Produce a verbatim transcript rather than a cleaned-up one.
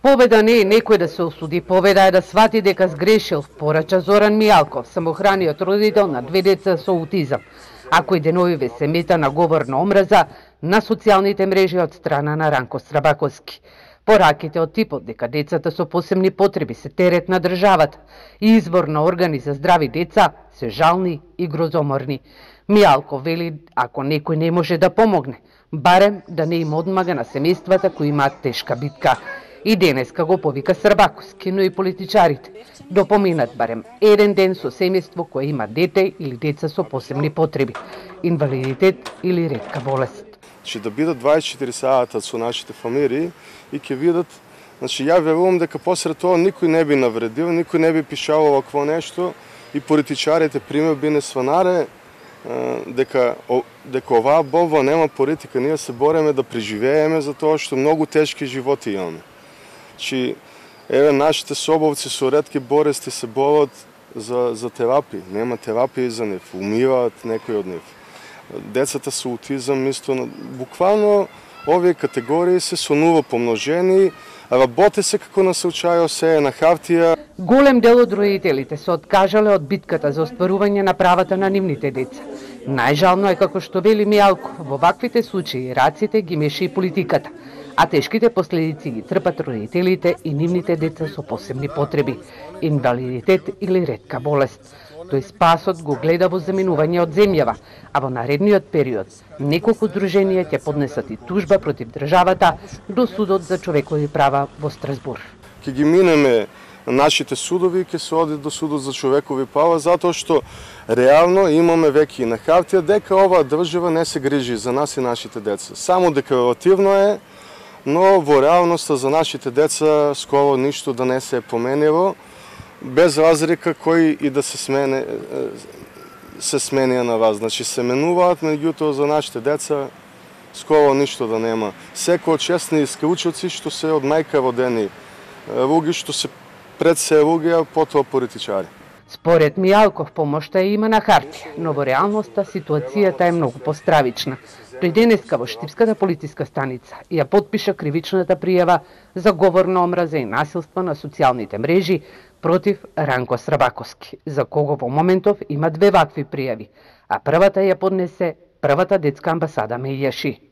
Победа не е некој да се осуди, победа е да свати дека сгрешил, порача Зоран Мијалков, самохраниот родител на две деца со аутизам. А кој деновиве се мета на говор на омраза на социјалните мрежи од страна на Ранко Срабаковски. Пораките од типот дека децата со посебни потреби се терет на државата и извор на органи за здрави деца се жални и грозоморни. Мијалков вели ако некој не може да помогне, барем да не им одмага на семејствата кои имаат тешка битка. И денеска го повика Србаковски, но и политичарите да поминат барем еден ден со семејство кое има дете или деца со посебни потреби, инвалидитет или ретка болест. Значи да бидат дваесет и четири сата со нашите фамилии и ќе видат, значи ја верувам дека посред тоа никој не би навредил, никој не би пишал овакво нешто и политичарите пример би не сванаре дека дека оваа борба нема политика, ние се бореме да преживееме за тоа што многу тешки животи имаме. Значи еве нашите собовци со ретки болести се борат за за терапија, нема терапија за нив, умираат некои од нив. Децата со аутизам исто, буквално овие категории се сонува помножени, работи се како на случајот се е на хартија. Голем дел од родителите се откажале од битката за остварување на правата на нивните деца. Најжално е како што вели Мијалков, во ваквите случаи раците ги меша и политиката, а тешките последици ги трпат родителите и нивните деца со посебни потреби, инвалидитет или ретка болест. Тој спасот го гледа во заминување од земјава, а во наредниот период неколку друженија ќе поднесат и тужба против државата до Судот за човекови права во Страсбур. Ќе ги минеме нашите судови и ќе се оди до Судот за човекови права, затоа што реално имаме веќе и на хартија дека оваа држава не се грижи за нас и нашите деца. Само декларативно е, но во реалноста за нашите деца скоро ништо да не се е променило, без разлика кој и да се смене се сменија на вас. Значи се менуваат, меѓутоа за нашите деца скоро ништо да нема. Секој од честни исклучоци што се од мајка родени руги, што се пред се руги, а потоа политичари. Според Мијалков помошта е има на хартија, но во реалноста ситуацијата е многу постравична. Тој денеска во Штипската полициска станица ја потпиша кривичната пријава за говор на омраза и насилство на социјалните мрежи против Ранко Срабаковски, за кого во моментов има две вакви пријави, а првата ја поднесе првата детска амбасада Мејаши.